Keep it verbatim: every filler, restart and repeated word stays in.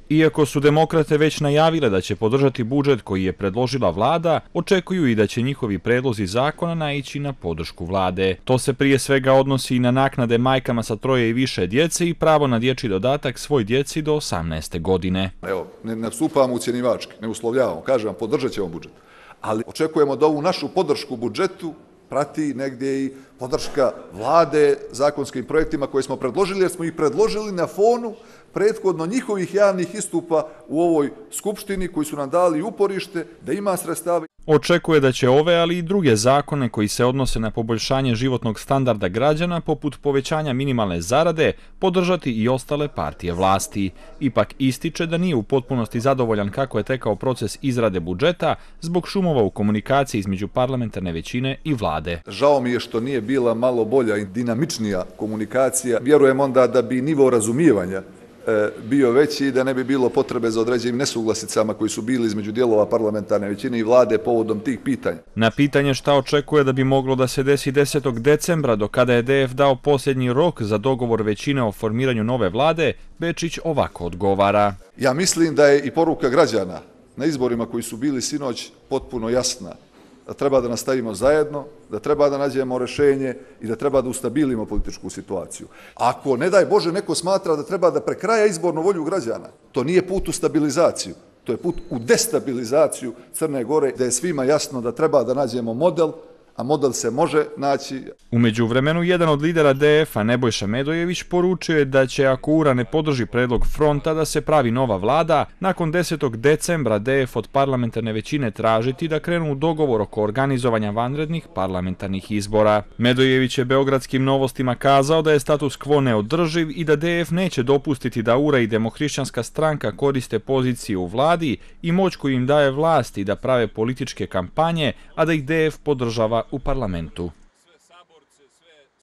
Iako su demokrate već najavile da će podržati budžet koji je predložila vlada, očekuju i da će njihovi predlozi zakona naići na podršku vlade. To se prije svega odnosi i na naknade majkama sa troje i više djece i pravo na dječji dodatak svoj djeci do osamnaeste godine. Evo, ne nastupamo ucjenjivački, ne uslovljavamo, kažem vam, podržat ćemo budžet. Ali očekujemo da ovu našu podršku budžetu prati negdje i podrška vlade zakonskim projektima koje smo predložili, jer smo ih predložili na fonu prethodno njihovih javnih istupa u ovoj skupštini koji su nam dali uporište da ima sredstava. Očekuje da će ove, ali i druge zakone koji se odnose na poboljšanje životnog standarda građana, poput povećanja minimalne zarade, podržati i ostale partije vlasti. Ipak ističe da nije u potpunosti zadovoljan kako je tekao proces izrade budžeta zbog šumova u komunikaciji između parlamentarne većine i vlade. Žao mi je što nije bila malo bolja i dinamičnija komunikacija. Vjerujem onda da bi nivo razumijevanja bio veći i da ne bi bilo potrebe za određenim nesuglasicama koji su bili između dijelova parlamentarne većine i vlade povodom tih pitanja. Na pitanje šta očekuje da bi moglo da se desi desetog decembra, do kada je D F dao posljednji rok za dogovor većine o formiranju nove vlade, Bečić ovako odgovara. Ja mislim da je i poruka građana na izborima koji su bili sinoć potpuno jasna. Da treba da nastavimo zajedno, da treba da nađemo rješenje i da treba da ustabilimo političku situaciju. Ako, ne daj Bože, neko smatra da treba da prekraja izbornu volju građana, to nije put u stabilizaciju, to je put u destabilizaciju Crne Gore, da je svima jasno da treba da nađemo model, a model se može naći. U međuvremenu, jedan od lidera D F-a, Nebojša Medojević, poručio je da će, ako U R A ne podrži predlog fronta da se pravi nova vlada, nakon desetog decembra D F od parlamentarne većine tražiti da krenu u dogovor oko organizovanja vanrednih parlamentarnih izbora. Medojević je Beogradskim novostima kazao da je status quo neodrživ i da D F neće dopustiti da U R A i Demohrišćanska stranka koriste poziciju u vladi i moć koju im daje vlast i da prave političke kampanje, a da ih D F podržava u parlamentu.